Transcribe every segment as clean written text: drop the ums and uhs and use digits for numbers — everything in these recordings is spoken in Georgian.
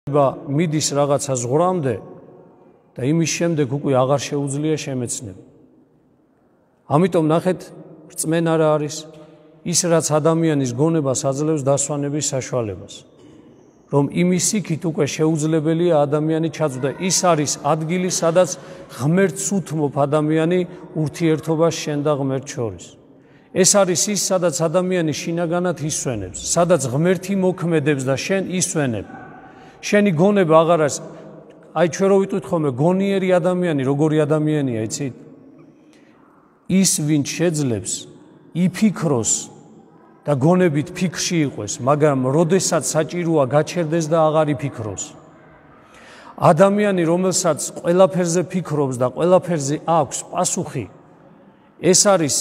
მიდის რაღაცა ზღვრამდე და იმის შემდეგ უკვე აღარ შეუძლია შემეცნება. ამიტომ ნახეთ, რწმენა რა არის? ის რაც ადამიანის გონებას აძლევს დასვანების საშუალებას. რომ იმის იქით უკვე შეუძლებელია ადამიანი ჩაწვდა. ის არის ადგილი, სადაც ღმერთს უთმობ ადამიანი ურთიერთობას შენ და ღმერთს შორის. ეს არის ის, სადაც ადამიანი შინაგანად ისვენებს, სადაც ღმერთი მოქმედებს და შენ ისვენებ. შენი გონება აღარ არის. აი ჩვენ რო ვიტყვით ხოლმე გონიერი ადამიანი, როგორი ადამიანია, იცით? ის ვინც შეძლებს იფიქროს და გონებით ფიქრში იყვეს, მაგრამ როდესაც საჭიროა გაჩერდეს და აღარ იფიქროს. ადამიანი, რომელსაც ყველაფერზე ფიქრობს და ყველაფერზე აქვს პასუხი, ეს არის,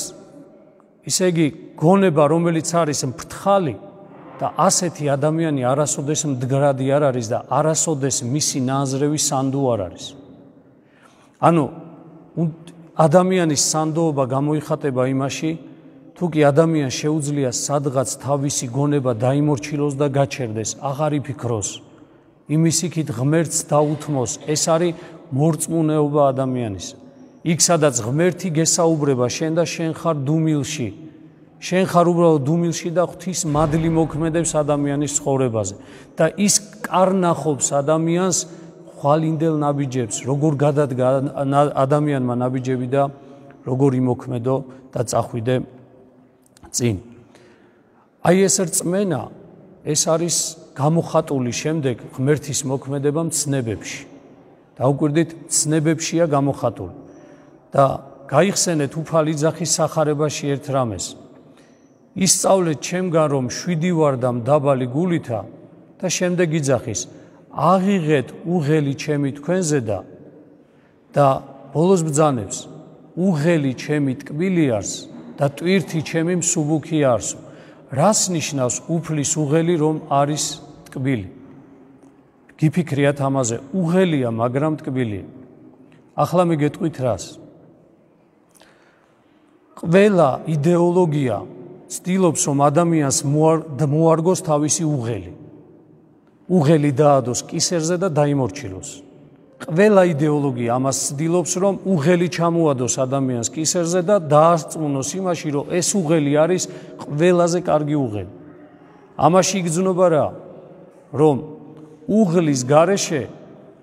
ისე იგი, გონება, რომელიც არის მფრთხალი და ასეთი ადამიანი არასოდეს მდგრადი არ არის და არასოდეს მისი ნაზრევი სანდო არ არის. ანუ ადამიანის სანდოობა გამოიხატება იმაში, თუ კი ადამიანს შეუძლია სადღაც თავისი გონება დაიმორჩილოს და გაჩერდეს, აღარ იფიქროს, იმის იქით ღმერთს დაუთმოს, ეს არის მორწმუნეობა ადამიანის. იქ სადაც ღმერთი გესაუბრება შენ და შენ ხარ დუმილში, შენ ხარ უბრალოდ დუმილში და ღვთის მადლი მოქმედებს ადამიანის ცხოვრებაზე და ის კარნახობს ადამიანს ხვალინდელ ნაბიჯებს, როგორ გადადგა ადამიანმა ნაბიჯები და როგორ იმოქმედო და წახვიდე წინ. აი ეს რწმენა, ეს არის გამოხატული შემდეგ ღმერთის მოქმედება მცნებებში. დაუკვირდით, მცნებებშია გამოხატული. და გაიხსენეთ უფალი ძახის სახარებაში ერთ რამეს. ისწავლეთ ჩემგან, რომ შვიდი ვარ და მდაბალი გულითა და შემდეგ იძახის, აღიღეთ უღელი ჩემი თქვენზე და ბოლოს ბრძანებს, უღელი ჩემი ტკბილი არს და ტვირთი ჩემი მსუბუქი არსო. რას ნიშნავს უფლის უღელი, რომ არის ტკბილი? გიფიქრიათ ამაზე, უღელია, მაგრამ ტკბილია. ახლა მიგეტყვით რას? ყველა იდეოლოგია ცდილობს, რომ ადამიანს მოარგოს თავისი უღელი. უღელი დაადოს კისერზე და დაიმორჩილოს. ყველა იდეოლოგია ამას ცდილობს, რომ უღელი ჩამოადოს ადამიანს კისერზე და დაარწმუნოს იმაში, რომ ეს უღელი არის ყველაზე კარგი უღელი. ამაში იგრძნობა რა? რომ უღლის გარეშე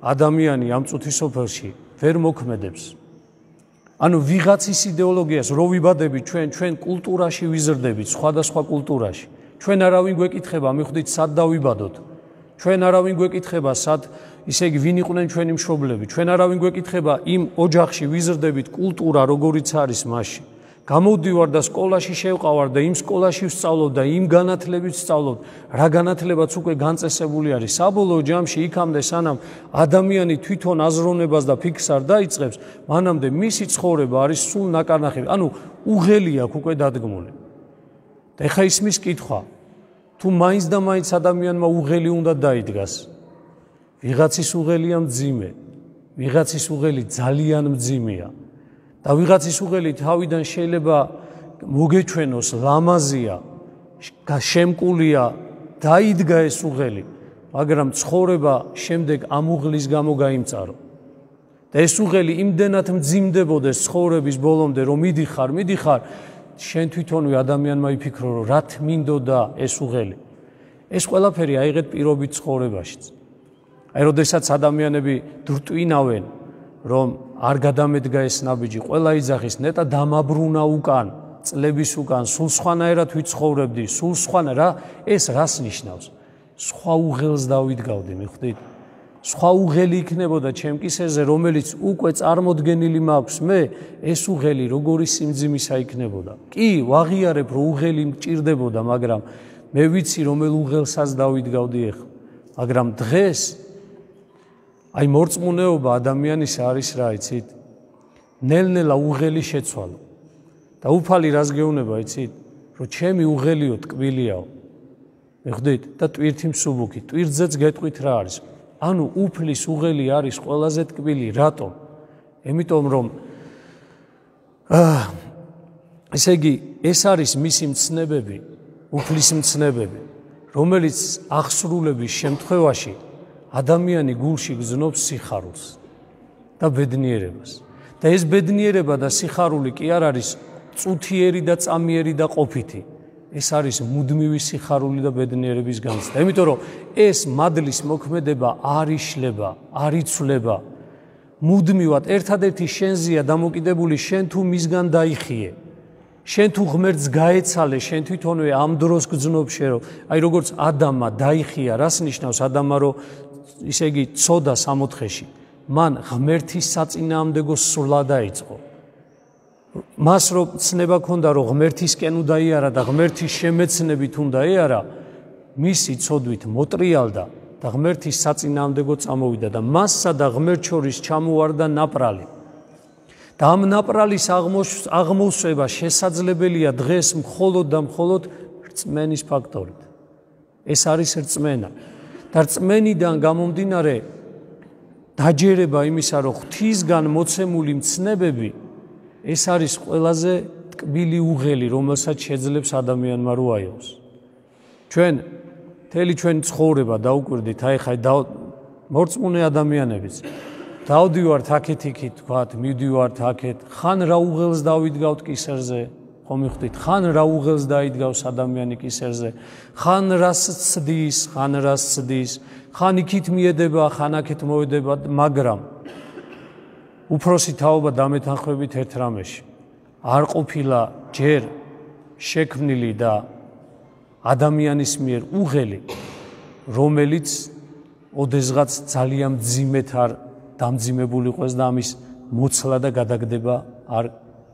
ადამიანი ამ წუთის სოფელში ვერ მოქმედებს. ანუ ვიღაცის იდეოლოგიას რო ვიბადებით ჩვენ კულტურაში ვიზრდებით, სხვადასხვა კულტურაში. ჩვენ არავინ გვეკითხება, მიხვდით, სად დავიბადოთ? ჩვენ არავინ გვეკითხება, სად, ისე იგი, ვინ იყვნენ ჩვენი მშობლები? ჩვენ არავინ გვეკითხება, იმ ოჯახში ვიზრდებით, კულტურა როგორიც არის მასში. გამოვდივარ და სკოლაში შევყავარ და იმ სკოლაში ვსწავლობ და იმ განათლებით ვსწავლობ, რა განათლებაც უკვე განწესებული არის. საბოლოო ჯამში იქამდე, სანამ ადამიანი თვითონ აზროვნებას და ფიქრს არ დაიწყებს, მანამდე მისი ცხოვრება არის სულ ნაკარნახევი. ანუ უღელი აქვს უკვე დადგმული. და ეხა ისმის კითხვა, თუ მაინც და მაინც ადამიანმა უღელი უნდა დაიდგას, ვიღაცის უღელია მძიმე, ვიღაცის უღელი ძალიან მძიმეა და ვიღაცის უღელი თავიდან შეიძლება მოგეჩვენოს ლამაზია, შემკულია, დაიდგა ეს უღელი, მაგრამ ცხოვრება შემდეგ ამ უღლის გამო გაიმწარო. და ეს უღელი იმდენად მძიმდებოდეს ცხოვრების ბოლომდე, რომ მიდიხარ, შენ თვითონვე ადამიანმა იფიქრო, რომ რა თმინდოდა ეს უღელი. ეს ყველაფერი აიღეთ პირობით ცხოვრებაშიც. აი, როდესაც ადამიანები დრტვინავენ, რომ არ გადამედგა ეს ნაბიჯი, ყველა იძახის, ნეტა დამაბრუნა უკან, წლების უკან, სულ სხვანაირად ვიცხოვრებდი, სულ სხვანა რა, ეს რას ნიშნავს? სხვა უღელს დავიდგავდი, მიხვდით? სხვა უღელი იქნებოდა ჩემ კისერზე, რომელიც უკვე წარმოდგენილი მაქვს მე, ეს უღელი როგორი სიმძიმისა იქნებოდა. კი, ვაღიარებ, რომ უღელი მჭირდებოდა, მაგრამ მე ვიცი, რომელ უღელსაც დავიდგავდი ახლა. მაგრამ დღეს აი მორწმუნეობა ადამიანის არის რა, იცით? ნელ-ნელა უღელი შეცვალო. და უფალი რას გეუბნება, იცით? რომ ჩემი უღელიო ტკბილიაო. მიხვდით? და ტვირთი მსუბუქი. ტვირთზეც გეტყვით რა არის? ანუ უფლის უღელი არის ყველაზე ტკბილი. რატომ? იმიტომ რომ ესე იგი, ეს არის მისი მცნებები, უფლის მცნებები, რომელიც აღსრულების შემთხვევაში ადამიანი გულში გზნობს სიხარულს და ბედნიერებას. და ეს ბედნიერება და სიხარული კი არ არის წუთიერი და წამიერი და ყოფითი. ეს არის მუდმივი სიხარული და ბედნიერების განცდა. იმიტომ რომ ეს მადლის მოქმედება არ იშლება, არ იცვლება. მუდმივად ერთადერთი შენზეა დამოკიდებული, შენ თუ მისგან დაიხიე. შენ თუ ღმერთს გაეცალე, შენ თვითონვე ამ დროს გძნობ შენ რომ აი როგორც ადამმა დაიხია, რას ნიშნავს ადამმა რომ ისე იგი ცოდა 64-ში. მან ღმერთის საწინააღმდეგო სვლა დაიწყო. მას რომ ცნება ქონდა რომ ღმერთისკენ უნდა იარა და ღმერთის შემეცნებით უნდა იარა, მისი ცოდვით მოტრიალდა და ღმერთის საწინააღმდეგო წამოვიდა და მასსა და ღმერთ შორის ჩამოვარდა ნაპრალი. და ამ ნაპრალის აღმოსვება შესაძლებელია დღეს მხოლოდ და მხოლოდ რწმენის ფაქტორით. ეს არის რწმენა. და რწმენიდან გამომდინარე დაჯერება იმისა, რომ ღვთისგან მოცემული მცნებები ეს არის ყველაზე ტკბილი უღელი, რომელსაც შეძლებს ადამიანმა რო აიღოს. ჩვენ მთელი ჩვენი ცხოვრება დაუკვირდით, აი ხა მორწმუნე ადამიანებიც. დავდივართ აქეთ-იქით, თქვათ, მივდივართ აქეთ, ხან რა უღელს დავიდგავთ კისერზე, ხო მიხვდით, ხან რა უღელს დაიდგავს ადამიანი კისერზე, ხან რას ცდის, ხან რას ცდის, ხან იქით მიედება, ხან აქეთ მოედება, მაგრამ უფროსი თაობა დამეთანხმებით ერთ რამეში. არ ყოფილა ჯერ შექმნილი და ადამიანის მიერ უღელი, რომელიც ოდესღაც ძალიან მძიმედ არ დამძიმებული იყოს და ამის მოცლა და გადაგდება არ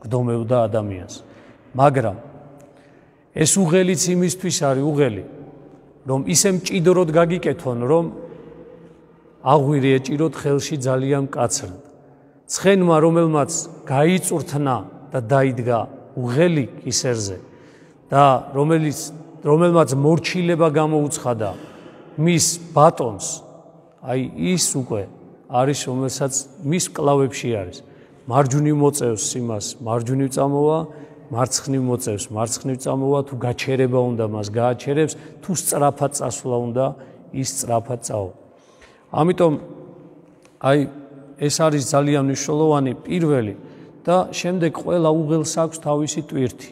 გდომევდა ადამიანს. მაგრამ ეს უღელიც იმისთვის არის უღელი, რომ ისე მჭიდროდ გაგიკეთონ, რომ აღვირი ეჭიროთ ხელში ძალიან მკაცრად. ცხენმა, რომელმაც გაიწურთნა და დაიდგა უღელი კისერზე და რომელმაც მორჩილება გამოუცხადა მის ბატონს, აი ის უკვე არის, რომელსაც მის კლავებში არის. მარჯვნივ მოწევს იმას, მარჯვნივ წამოვა, მარცხნივ მოწევს, მარცხნივ წამოვა, თუ გაჩერება უნდა მას გააჩერებს, თუ სწრაფად წასვლა უნდა, ის სწრაფად წავა. ამიტომ აი ეს არის ძალიან მნიშვნელოვანი პირველი და შემდეგ ყველა უღელს აქვს თავისი ტვირთი.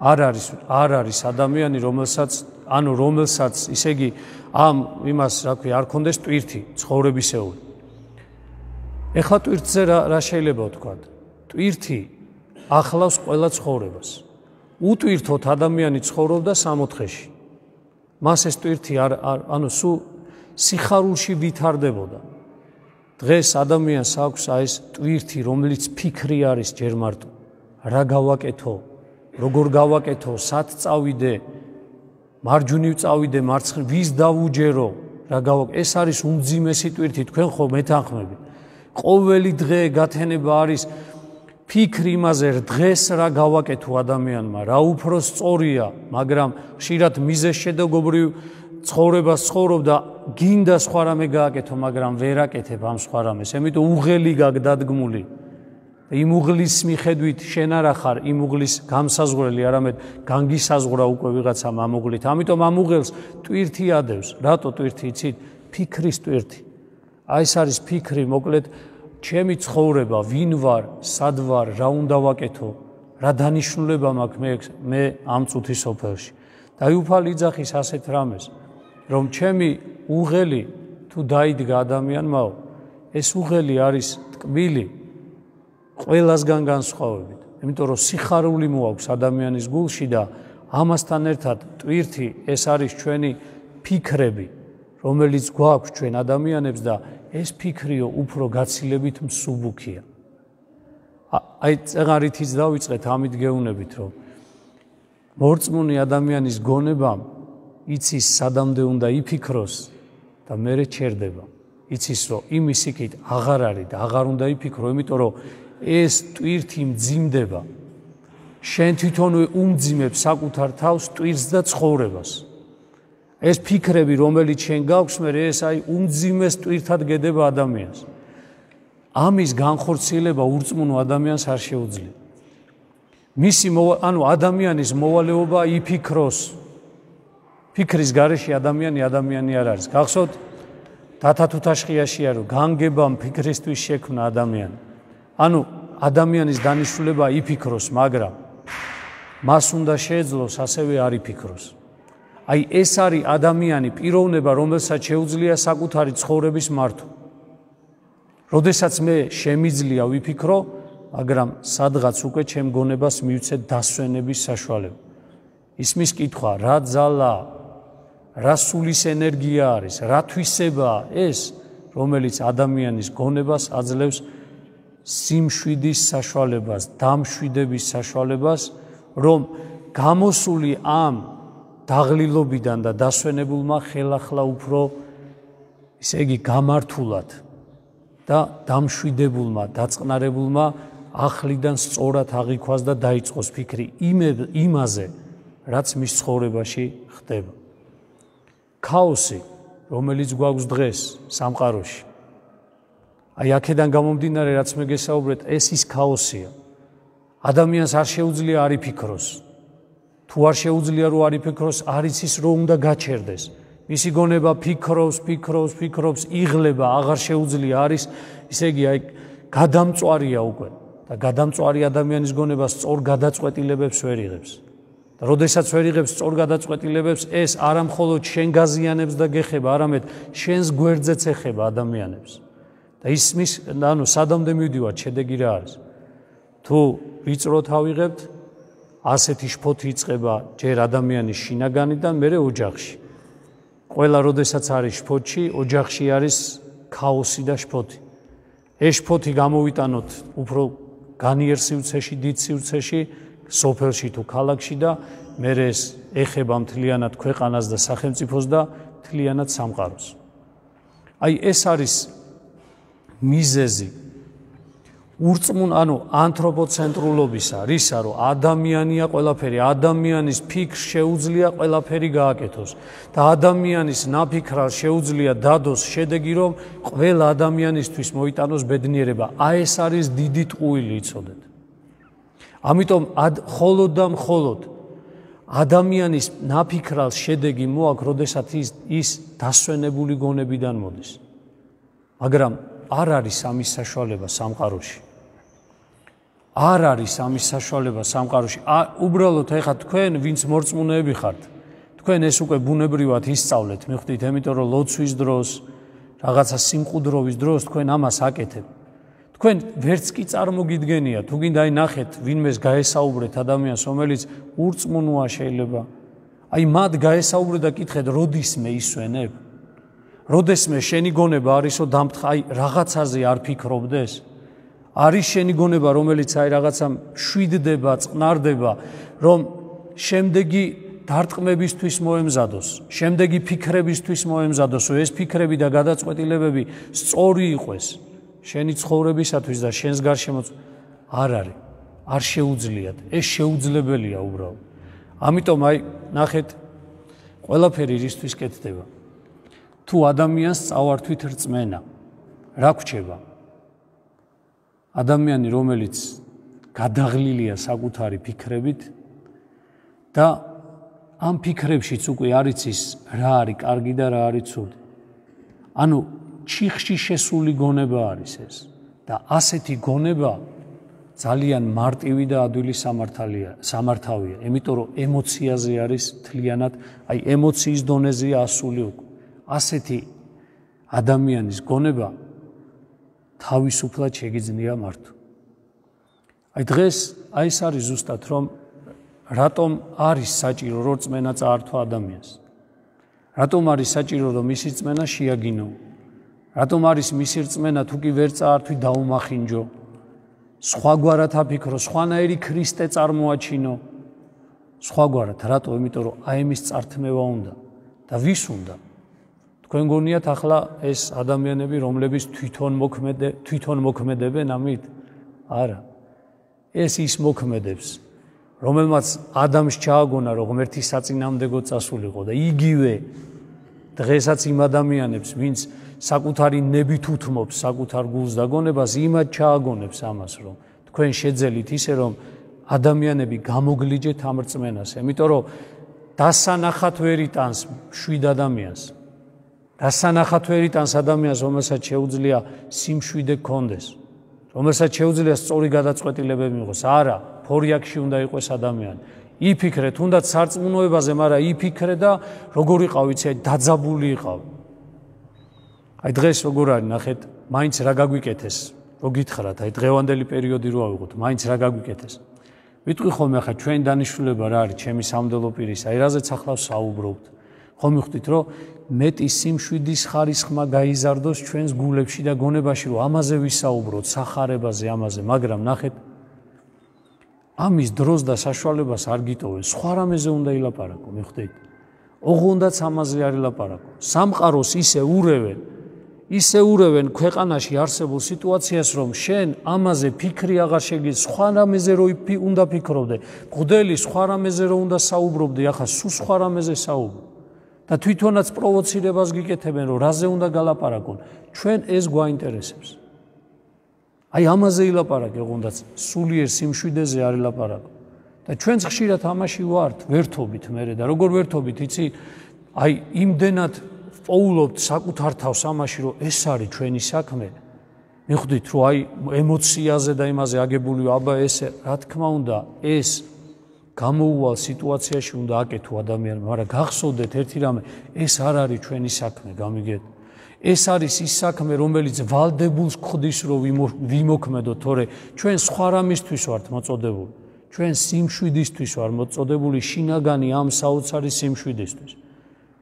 არ არის ადამიანი, რომელსაც ისე იგი ამ იმას რა ქვია, არ ქონდეს ტვირთი ცხოვრებისეული. ეხლა ტვირთზე რა შეიძლება ვთქვა? ტვირთი ახლავს ყველა ცხოვრებას. უტვირთოთ ადამიანი ცხოვრობდა 64-ში. მას ეს ტვირთი სულ სიხარულში ვითარდებოდა. დღეს ადამიანს აქვს ეს ტვირთი, რომელიც ფიქრი არის ჯერ მარტო. რა გავაკეთო, როგორ გავაკეთო, სად წავიდე, მარჯვნივ წავიდე, მარცხნივ, ვის დავუჯერო, რა გავაკეთო. ეს არის უმძიმესი ტვირთი, თქვენ ხო მეთანხმებით. ყოველი დღე გათენება არის ფიქრი იმაზე, დღეს რა გავაკეთო ადამიანმა, რა უფრო სწორია, მაგრამ ხშირად მიზეზშედეგობრივ ცხოვრებას ცხოვრობ და გინდა სხვა რამე გააკეთო, მაგრამ ვერ აკეთებ ამ სხვა რამეს. ამიტომ უღელი გაგდადგმული. იმ უღლის მიხედვით შენ არა ხარ იმ უღლის გამსაზღვრელი, არამედ განგისაზღვრა უკვე ვიღაცამ ამ უღლით. ამიტომ ამ უღელს ტვირთი ადევს. რატო ტვირთი იცით? ფიქრის ტვირთი. აი ეს არის ფიქრი, მოკლედ ჩემი ცხოვრება, ვინ ვარ, სად ვარ, რა უნდა ვაკეთო, რა დანიშნულება მაქვს მე ამ წუთის სოფელში. დაიუფალი იძახის ასეთ რამეს, რომ ჩემი უღელი თუ დაიდგა ადამიანმაო, ეს უღელი არის ტკბილი ყველასგან განსხვავებით. იმიტომ რომ სიხარული მოაქვს ადამიანის გულში და ამასთან ერთად ტვირთი ეს არის ჩვენი ფიქრები, რომელიც გვაქვს ჩვენ ადამიანებს და ეს ფიქრიო უფრო გაცილებით მსუბუქია. აი წეღარითიც დავიწყეთ ამით გეუბნებით, რომ მორწმუნე ადამიანის გონებამ იცის სადამდე უნდა იფიქროს და მერე ჩერდება. იცის რომ იმის იქით აღარ არის და აღარ უნდა იფიქრო, იმიტომ რომ ეს ტვირთი მძიმდება. შენ თვითონვე უმძიმებ საკუთარ თავს ტვირთს და ცხოვრებას. ეს ფიქრები, რომელიც შენ გაქვს, მე ეს აი უმძიმეს ტვირთად გედება ადამიანს. ამის განხორციელება ურწმუნო ადამიანს არ შეუძლია. ადამიანის მოვალეობა იფიქროს. ფიქრის გარეშე ადამიანი არ არის. გახსოვთ, დათათუთაშხიაშია რომ განგებამ ფიქრისთვის შექმნა ადამიანი. ანუ ადამიანის დანიშნულება იფიქროს, მაგრამ მას უნდა შეეძლოს ასევე არ იფიქროს. აი ეს არის ადამიანი პიროვნება, რომელსაც შეუძლია საკუთარი ცხოვრების მართვა. როდესაც მე შემიძლია ვიფიქრო, მაგრამ სადღაც უკვე ჩემ გონებას მივცეთ დასვენების საშუალება. ისმის კითხვა, რა ძალა, რა სულის ენერგია არის, რა თვისებაა ეს, რომელიც ადამიანის გონებას აძლევს სიმშვიდის საშუალებას, დამშვიდების საშუალებას, რომ გამოსული ამ დაღლილობიდან და დასვენებულმა ხელახლა უფრო, ისე იგი გამართულად და დამშვიდებულმა, დაწყნარებულმა ახლიდან სწორად აღიქვას და დაიწყოს ფიქრი იმაზე, რაც მის ცხოვრებაში ხდება. ქაოსი, რომელიც გვაქვს დღეს სამყაროში. აი აქედან გამომდინარე, რაც მე გესაუბრეთ, ეს ის ქაოსია. ადამიანს არ შეუძლია არ იფიქროს. თუ არ შეუძლია რომ არ იფიქროს, არ იცის რომ უნდა გაჩერდეს. მისი გონება ფიქრობს, იღლება, აღარ შეუძლია არის, ისე იგი აი გადამწვარია უკვე და გადამწვარი ადამიანის გონება სწორ გადაწყვეტილებებს ვერ იღებს. და როდესაც ვერ იღებს სწორ გადაწყვეტილებებს, ეს არა მხოლოდ შენ გაზიანებს და გეხება, არამედ შენს გვერდზეც ეხება ადამიანებს. და ისმის, ანუ სადამდე მივდივართ, შედეგი რა არის? თუ ვიწროთ ავიღებთ, ასეთი შფოთი იწყება ჯერ ადამიანის შინაგანიდან, მერე ოჯახში. ყველა როდესაც არის შფოთში, ოჯახში არის ქაოსი და შფოთი. ეს შფოთი გამოვიტანოთ უფრო განიერ სივრცეში, დიდ სივრცეში, სოფელში თუ ქალაქში და მერე ეს ეხება მთლიანად ქვეყანას და სახელმწიფოს და მთლიანად სამყაროს. აი ეს არის მიზეზი ანუ ანთროპოცენტრულობისა, რისა რომ ადამიანია ყველაფერი, ადამიანის ფიქრს შეუძლია ყველაფერი გააკეთოს და ადამიანის ნაფიქრალს შეუძლია დადოს შედეგი, რომ ყველა ადამიანისთვის მოიტანოს ბედნიერება. აი ეს არის დიდი ტყუილი, იცოდეთ. ამიტომ მხოლოდ და მხოლოდ ადამიანის ნაფიქრალს შედეგი მოაქვს, როდესაც ის დასვენებული გონებიდან მოდის. მაგრამ არ არის ამის საშუალება სამყაროში. არ არის ამის საშუალება სამყაროში. უბრალოდ ეხლა თქვენ, ვინც მორწმუნეები ხართ, თქვენ ეს უკვე ბუნებრივად ისწავლეთ, მიხვდით, იმიტომ რომ ლოცვის დროს, რაღაცა სიმყუდროვის დროს თქვენ ამას აკეთებთ. თქვენ ვერც კი წარმოგიდგენია, თუ გინდა აი ნახეთ, ვინმეს გაესაუბრეთ ადამიანს, რომელიც ურწმუნოა შეიძლება. აი მათ გაესაუბრეთ და კითხეთ, როდისმე ისვენებ? როდესმე შენი გონება არისო დამთხა, აი რაღაცაზე არ ფიქრობდეს? არის შენი გონება, რომელიც აი რაღაცა შვიდდება, წყნარდება, რომ შემდეგი დარტყმებისთვის მოემზადოს, შემდეგი ფიქრებისთვის მოემზადოს, ეს ფიქრები და გადაწყვეტილებები სწორი იყოს შენი ცხოვრებისათვის და შენს გარშემო. არ არის, არ შეუძლიათ, ეს შეუძლებელია უბრალოდ. ამიტომ აი ნახეთ, ყველაფერი რისთვის კეთდება. თუ ადამიანს წავართვით რწმენა, რა გვჩება? ადამიანი, რომელიც გადაღლილია საკუთარი ფიქრებით და ამ ფიქრებშიც უკვე არ იცის რა არის კარგი და რა არის ცუდი. ანუ ჩიხში შესული გონება არის ეს და ასეთი გონება ძალიან მარტივი და ადვილი სამართავია, იმიტომ რომ ემოციაზე არის თლიანად, აი ემოციის დონეზეა ასული უკვე. ასეთი ადამიანის გონება თავისუფლად შეგიძლია მართვა. აი დღეს აი ეს არის ზუსტად, რომ რატომ არის საჭირო რომ რწმენა წაართვა ადამიანს. რატომ არის საჭირო რომ მისი რწმენა შეაგინო? რატომ არის მისი რწმენა თუ კი ვერ წაართვი დაუმახინჯო? სხვაგვარად აფიქრო, სხვანაირი ქრისტე წარმოაჩინო. სხვაგვარად, რატო? იმიტომ რომ აი ამის წართმევა უნდა და ვის უნდა? თქვენ გონიათ ახლა ეს ადამიანები, რომლებიც თვითონ მოქმედებენ ამით? არა. ეს ის მოქმედებს, რომელმაც ადამიანს ჩააგონა, რომ ღმერთი საწინააღმდეგო წასულიყო და იგივე დღესაც იმ ადამიანებს, ვინც საკუთარი ნებით უთმობს საკუთარ გულს და გონებას, იმად ჩააგონებს ამას, რომ თქვენ შეძელით ისე, რომ ადამიანები გამოგლიჯეთ ამ რწმენას, იმიტომ რომ დასანახად ვერ იტანს შვიდ ადამიანს. დასანახად ვერ იტანს ადამიანს, რომელსაც შეუძლია სიმშვიდე გქონდეს, რომელსაც შეუძლია სწორი გადაწყვეტილებები მიიღოს. არა, ფორიაქში უნდა იყოს ადამიანი. იფიქრე თუნდაც სარწმუნოებაზე, მაგრამ იფიქრე და როგორ იყავ, იცი, დაძაბული იყავ. აი დღეს როგორ არის, ნახეთ, მაინც რა გაგვიკეთეს, რო გითხრათ, აი დღევანდელი პერიოდი რო ავიღოთ, მაინც რა გაგვიკეთეს. ვიტყვი ხოლმე ახლა ჩვენ დანიშნულება რა არის, ჩემი სამდელო პირის, აი რაზეც ახლა საუბრობთ. ხომ მიხვდით, რომ მეტი სიმშვიდის ხარისხმა გაიზარდოს ჩვენს გულებში და გონებაში, რომ ამაზე ვისაუბროთ, სახარებაზე, ამაზე, მაგრამ ნახეთ, ამის დროს და საშუალებას არ გიტოვენ, სხვა რამეზე უნდა ილაპარაკო, მიხვდით? ოღონდაც ამაზე არ ილაპარაკო. სამყაროს ისე ურევენ ქვეყანაში არსებულ სიტუაციას, რომ შენ ამაზე ფიქრი აღარ შეგიძლია, სხვა რამეზე რო უნდა ფიქრობდე, მღვდელი სხვა რამეზე რო უნდა საუბრობდე, ახლა სულ სხვა რამეზე საუბრო. და თვითონაც პროვოცირებას გიკეთებენ, რომ რაზე უნდა გალაპარაკონ, ჩვენ ეს გვაინტერესებს. აი ამაზე ილაპარაკე, ოღონდაც სულიერ სიმშვიდეზე არ ილაპარაკო. და ჩვენც ხშირად ამაში ვართ, ვერთობით მერე და როგორ ვერთობით, იცი? აი იმდენად პოულობთ საკუთარ თავს ამაში, რომ ეს არის ჩვენი საქმე. მიხვდით, რომ აი ემოციაზე და იმაზე აგებული, აბა ესე, რა თქმა უნდა, ეს გამოუვალ სიტუაციაში უნდა აკეთო ადამიანმა, მაგრამ გახსოვდეთ ერთი რამე, ეს არ არის ჩვენი საქმე, გამიგეთ? ეს არის ის საქმე, რომელიც ვალდებულს გხდის, რომ ვიმოქმედოთ, თორე ჩვენ სხვა რამისთვის ვართ მოწოდებული. ჩვენ სიმშვიდისთვის ვართ მოწოდებული, შინაგანი ამ საოცარი სიმშვიდისთვის.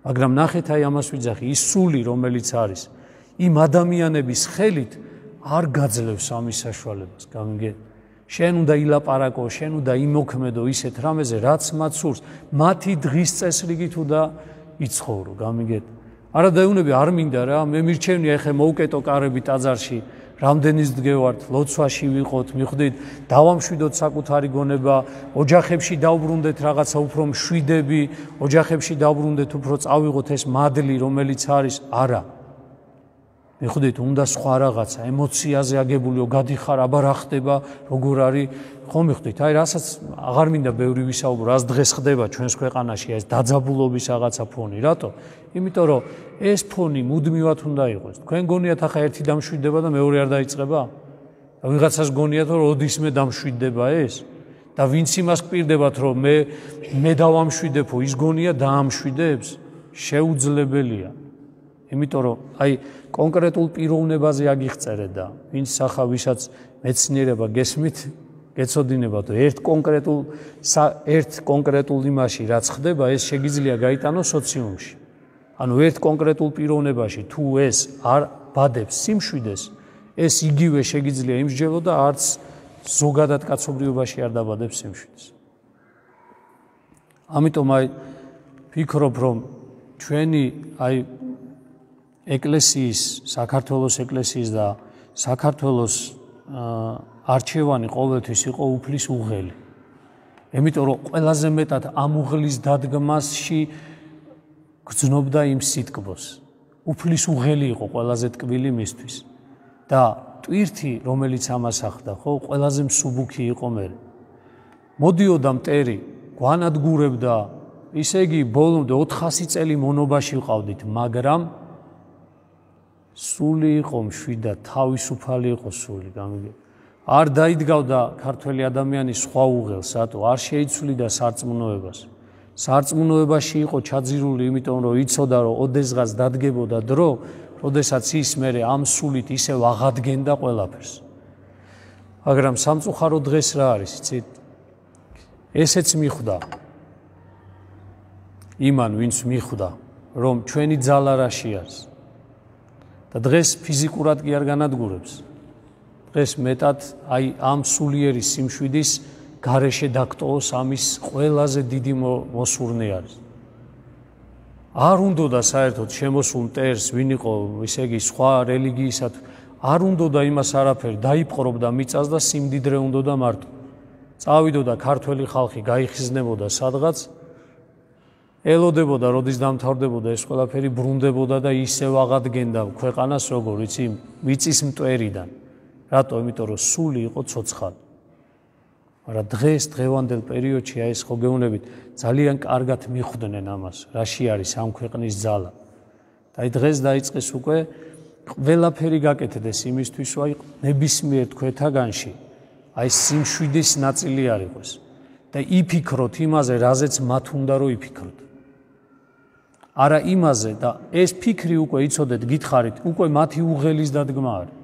მაგრამ ნახეთ, აი ამას ვიძახი, ის სული, რომელიც არის, იმ ადამიანების ხელით არ გაძლევს ამის საშუალებას, გამიგეთ? შენ უნდა ილაპარაკო, შენ უნდა იმოქმედო ისეთ რამეზე, რაც მათ სურს, მათი დღის წესრიგით უნდა იცხოვრო, გამიგეთ? არა დაეუნები, არ მინდა რა, მე მირჩევნია ეხლა მოუკეტო კარები ტაძარში, რამდენის დგევართ, ლოცვაში ვიყოთ, მიხვდით, დავამშვიდოთ საკუთარი გონება, ოჯახებში დავბრუნდეთ რაღაცა უფრო მშვიდები, ოჯახებში დავბრუნდეთ უფრო წავიღოთ ეს მადლი, რომელიც არის, არა. მიხვდით, უნდა სხვა რაღაცა, ემოციაზე აგებულიო, გადიხარ, აბა რა ხდება, როგორ არის, ხომ მიხვდით, აი რასაც აღარ მინდა ბევრი ვისაუბრო, რას დღეს ხდება ჩვენს ქვეყანაში, ეს დაძაბულობის რაღაცა ფონი, რატო? იმიტომ რომ ეს ფონი მუდმივად უნდა იყოს. თქვენ გონიათ ახლა ერთი დამშვიდდება და მეორე არ დაიწყება? და ვიღაცას გონიათ რომ ოდისმე დამშვიდდება ეს? და ვინც იმას გპირდებათ რომ მე დავამშვიდებო, ის გონია დაამშვიდებს? შეუძლებელია. იმიტომ რომ აი კონკრეტულ პიროვნებაზე აგიხწერეთ და ვინც ახლა ვისაც მეცნიერება გესმით, გეცოდინებათ ერთ კონკრეტულ იმაში რაც ხდება, ეს შეგიძლია გაიტანოს სოციუმში. ანუ ერთ კონკრეტულ პიროვნებაში თუ ეს არ ბადებს სიმშვიდეს, ეს იგივე შეგიძლია იმსჯელო და არც ზოგადად კაცობრიობაში არ დაბადებს სიმშვიდეს. ამიტომ აი ვფიქრობ, რომ ჩვენი აი ეკლესიის, საქართველოს ეკლესიის და საქართველოს არჩევანი ყოველთვის იყო უფლის უღელი. იმიტომ რომ ყველაზე მეტად ამ უღლის დადგმასში გრძნობდა იმ სიტკბოს. უფლის უღელი იყო ყველაზე ტკბილი მისთვის. და ტვირთი, რომელიც ამას ახდა, ხო, ყველაზე მსუბუქი იყო მე. მოდიოდა მტერი, გვანადგურებდა, ისე იგი ბოლომდე 400 წელი მონობაში ვყავდით, მაგრამ სული იყო მშვიდა, თავისუფალი იყო სული, გამიგე. არ დაიდგავდა ქართველი ადამიანი სხვა უღელს, რატო? არ შეიცვლიდა სარწმუნოებას. სარწმუნოებაში იყო ჩაძირული, იმიტომ რომ იცოდა, რომ ოდესღაც დადგებოდა დრო, როდესაც ის მერე ამ სულით ისევ აღადგენდა ყველაფერს. მაგრამ სამწუხაროდ დღეს რა არის, იცით? ესეც მიხვდა. იმან, ვინც მიხვდა, რომ ჩვენი ძალა რაში არის. და დღეს ფიზიკურად კი არ განადგურებს. დღეს მეტად აი ამ სულიერი სიმშვიდის გარეშე დაგტოვოს ამის ყველაზე დიდი მოსურნე არის. არ უნდოდა საერთოდ შემოსულ მტერს, ვინ იყო, ისე იგი სხვა რელიგიისად, არ უნდოდა იმას არაფერი, დაიპყრობდა მიწას და სიმდიდრე უნდოდა მარტო. წავიდოდა ქართველი ხალხი, გაიხიზნებოდა სადღაც, ელოდებოდა, როდის დამთავრდებოდა ეს ყველაფერი, ბრუნდებოდა და ისევ აღადგენდა ქვეყანას, როგორ იცი, მიწის მტვერიდან. რატო? იმიტომ რომ სული იყო ცოცხალი. მაგრამ დღეს დღევანდელ პერიოდში აი ეს ხო გეუბნებით, ძალიან კარგად მიხვდნენ ამას, რაში არის ამ ქვეყნის ძალა. და და დღეს დაიწყეს უკვე ყველაფერი გაკეთდეს იმისთვის, რომ ნებისმიერ თქვენთაგანში აი სიმშვიდის ნაწილი არ იყოს და იფიქროთ იმაზე, რაზეც მათ უნდა რომ იფიქროთ. არა იმაზე და ეს ფიქრი უკვე იცოდეთ, გითხარით, უკვე მათი უღელის დადგმა არის.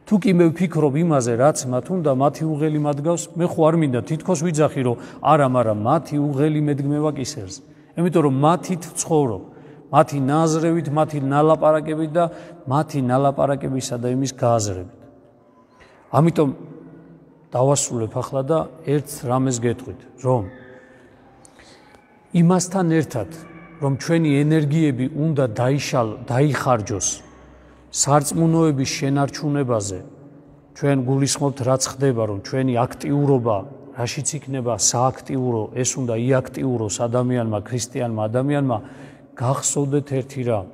თუ კი მე ვფიქრობ იმაზე, რაც მათ უნდა, მათი უღელი მადგავს, მე ხო არ მინდა თითქოს ვიძახი, რომ არა, მაგრამ მათი უღელი მედგმევა კისერზე. იმიტომ რომ მათით ვცხოვრობ, მათი ნაზრევით, მათი ნალაპარაკებით და მათი ნალაპარაკებისა და იმის გააზრებით. ამიტომ დავასრულებ ახლა და ერთ რამეს გეტყვით, რომ იმასთან ერთად, რომ ჩვენი ენერგიები უნდა დაიხარჯოს სარწმუნოების შენარჩუნებაზე, ჩვენ გულისხმობთ, რაც ხდება, რომ ჩვენი აქტიურობა, რაშიც იქნება სააქტიურო, ეს უნდა იაქტიუროს ადამიანმა, ქრისტიანმა ადამიანმა, გახსოვდეთ ერთი რამ,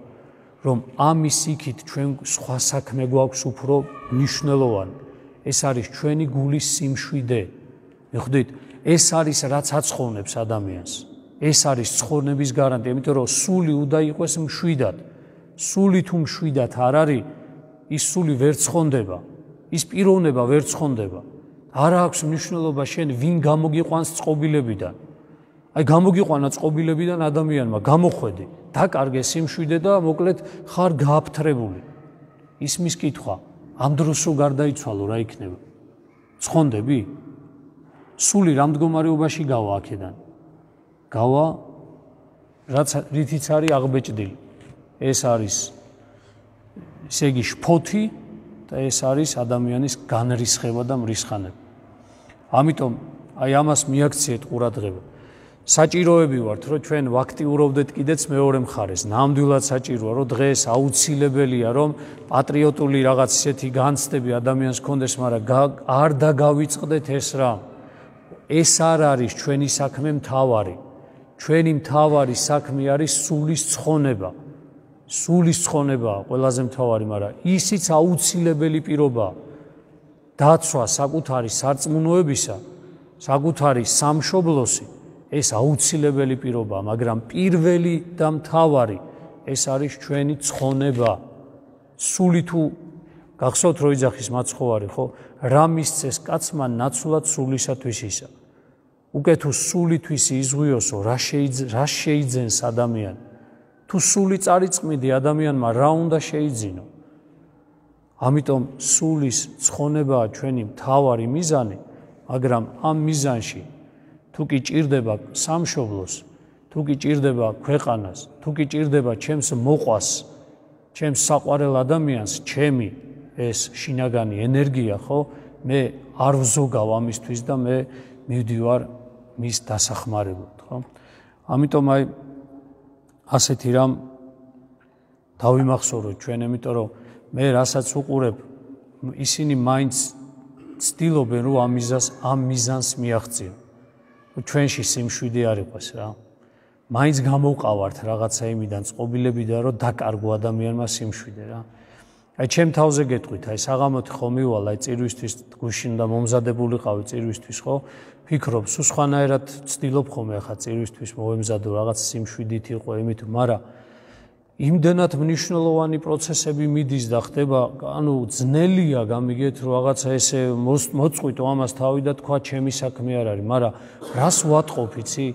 რომ ამის იქით ჩვენ სხვა საქმე გვაქვს უფრო მნიშვნელოვანი. ეს არის ჩვენი გულის სიმშვიდე. მიხვდით, ეს არის რაც აცხოვნებს ადამიანს. ეს არის ცხოვრების გარანტია, იმიტომ რომ სული უნდა იყოს მშვიდად. სული თუ მშვიდად არ არის, ის სული ვერ ცხონდება, ის პიროვნება ვერ ცხონდება. არ აქვს მნიშვნელობა შენ ვინ გამოგიყვანს წყობილებიდან. აი გამოგიყვანა წყობილებიდან ადამიანმა, გამოხვედი, დაკარგე სიმშვიდე და მოკლედ ხარ გააფთრებული. ისმის კითხვა, ამ დროს რო გარდაიცვალო რა იქნება? ცხონდები? სული რა მდგომარეობაში გავა აქედან? გავა რაც რითიც არის აღბეჭდილი. ეს არის ესე იგი შფოთი და ეს არის ადამიანის განრისხება და მრისხანება. ამიტომ აი ამას მიაქციეთ ყურადღება. საჭიროები ვართ, რომ ჩვენ ვაქტიურობდეთ კიდეც მეორე მხარეს. ნამდვილად საჭიროა, რომ დღეს აუცილებელია, რომ პატრიოტული რაღაც ისეთი განცდები ადამიანს ჰქონდეს, მაგრამ არ დაგავიწყდეთ ეს რამ. ეს არ არის ჩვენი საქმე მთავარი. ჩვენი მთავარი საქმე არის სულის ცხონება. სულის ცხონებაა ყველაზე მთავარი, მაგრამ ისიც აუცილებელი პირობაა. დაცვა საკუთარი სარწმუნოებისა, საკუთარი სამშობლოსი, ეს აუცილებელი პირობაა, მაგრამ პირველი და მთავარი ეს არის ჩვენი ცხონება. სული თუ გახსოვთ რო იძახის მაცხოვარი, ხო? რა მისცეს კაცმა ნაცვლად სულისათვის ისა. უკვე თუ სულისთვის იზღვიოსო, რა შეიძენს ადამიანი? თუ სული წარიწყმიდი ადამიანმა რა უნდა შეიძინო? ამიტომ სულის ცხონებაა ჩვენი მთავარი მიზანი, მაგრამ ამ მიზანში თუ კი ჭირდება სამშობლოს, თუ კი ჭირდება ქვეყანას, თუ კი ჭირდება ჩემს მოყვას, ჩემს საყვარელ ადამიანს, ჩემი ეს შინაგანი ენერგია, ხო? მე არ ვზოგავ ამისთვის და მე მივდივარ მის დასახმარებლად, ხო? ამიტომ აი ასეთი რამ დავიმახსოვროთ ჩვენ, იმიტომ რომ მე რასაც უყურებ, ისინი მაინც ცდილობენ, რომ ამ მიზანს მიაღწიონ. ჩვენში სიმშვიდე არ იყოს რა. მაინც გამოვყავართ რაღაცა იმიდან წყობილებიდან, რომ დაკარგო ადამიანმა სიმშვიდე რა. აი ჩემ თავზე გეტყვით, აი საღამოთი ხო მივალ, აი წირვისთვის გუშინ და მომზადებულიყავი წირვისთვის, ხო? ფიქრობ, სულ სხვანაირად ცდილობ ხოლმე ახლა წირვისთვის მოვემზადო რაღაც სიმშვიდით იყო იმით, მაგრამ იმდენად მნიშვნელოვანი პროცესები მიდის და ხდება, ანუ ძნელია გამიგეთ, რომ რაღაცა ესე მოწყვიტო ამას თავი და თქვა ჩემი საქმე არ არის, მაგრამ რას ვატყობ, იცი?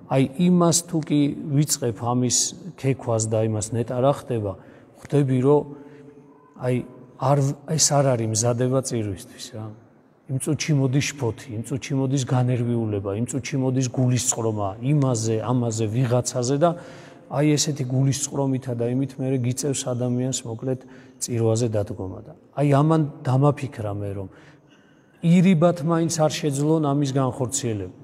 აი იმას თუ კი ვიწყებ ამის ქექვას და იმას ნეტა რა ხდება, ხვდები რომ აი ეს არ არის მზადება წირვისთვის რა. იმ წუთში მოდის შფოთი, იმ წუთში მოდის განერვიულება, იმ წუთში მოდის გულისწყრომა იმაზე, ამაზე, ვიღაცაზე და აი ესეთი გულისწყრომითა და იმით მე გიწევს ადამიანს მოკლედ წირვაზე დადგომა და აი ამან დამაფიქრა მე რომ ირიბად მაინც არ შეძლონ ამის განხორციელება.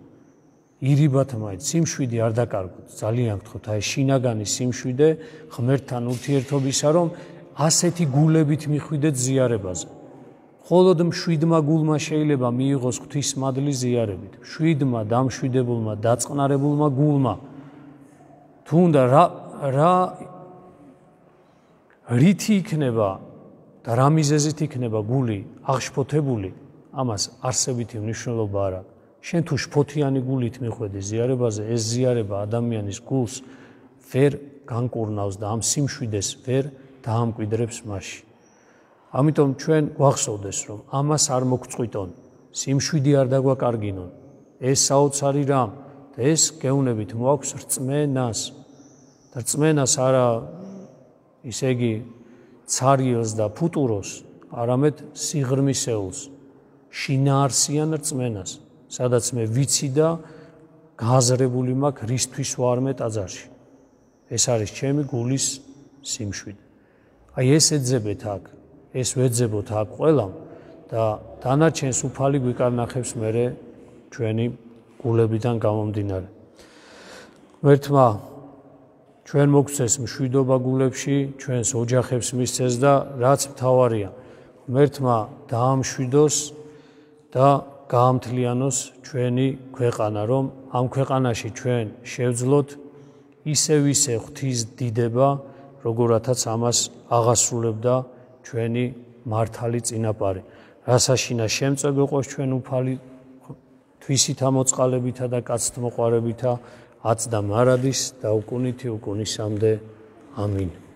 ირიბად მაინც სიმშვიდე არ დაკარგოთ, ძალიან გთხოვთ, აი შინაგანი სიმშვიდე ღმერთთან ურთიერთობისა, რომ ასეთი გულებით მიხვიდეთ ზიარებაზე. მხოლოდ მშვიდმა გულმა შეიძლება მიიღოს ღვთისმადლი ზიარებით. მშვიდმა, დამშვიდებულმა, დაწყნარებულმა გულმა თუნდა რა რითი იქნება და რა მიზეზით იქნება გული აღშფოთებული, ამას არსებითი მნიშვნელობა არ აქვს. შენ თუ შფოთიანი გულით მიხვედი ზიარებაზე, ეს ზიარება ადამიანის გულს ვერ განკურნავს და ამ სიმშვიდეს ვერ დაამკვიდრებს მასში. ამიტომ ჩვენ გვახსოვდეს, რომ ამას არ მოგწყვიტონ, სიმშვიდი არ დაგვაკარგინონ. ეს საოცარი რამ და ეს გეუბნებით მოაქვს რწმენას. და რწმენას არა ისე იგი ცარიელს და ფუტუროს, არამედ სიღრმისეულს, შინაარსიან რწმენას, სადაც მე ვიცი და გააზრებული მაქვს რისთვის ვარმე ტაძარში. ეს არის ჩემი გულის სიმშვიდე. აი ეს ეძებეთ აქ, ეს ვეძებოთ აქ ყველამ და დანარჩენს უფალი გვიკარნახებს მერე ჩვენი გულებიდან გამომდინარე. ღმერთმა ჩვენ მოგცეს მშვიდობა გულებში, ჩვენს ოჯახებს მისცეს და რაც მთავარია, ღმერთმა დაამშვიდოს და გაამთლიანოს ჩვენი ქვეყანა, რომ ამ ქვეყანაში ჩვენ შევძლოთ ისევ ღვთის დიდება, როგორათაც ამას აღასრულებდა ჩვენი მართალი წინაპარი. რასაშინა შემწე გვეყოს ჩვენ უფალი თვისითა მოწყალებითა და კაცთმოყვარებითა, აც და მარადის და უკუნითი უკუნისამდე. ამინ.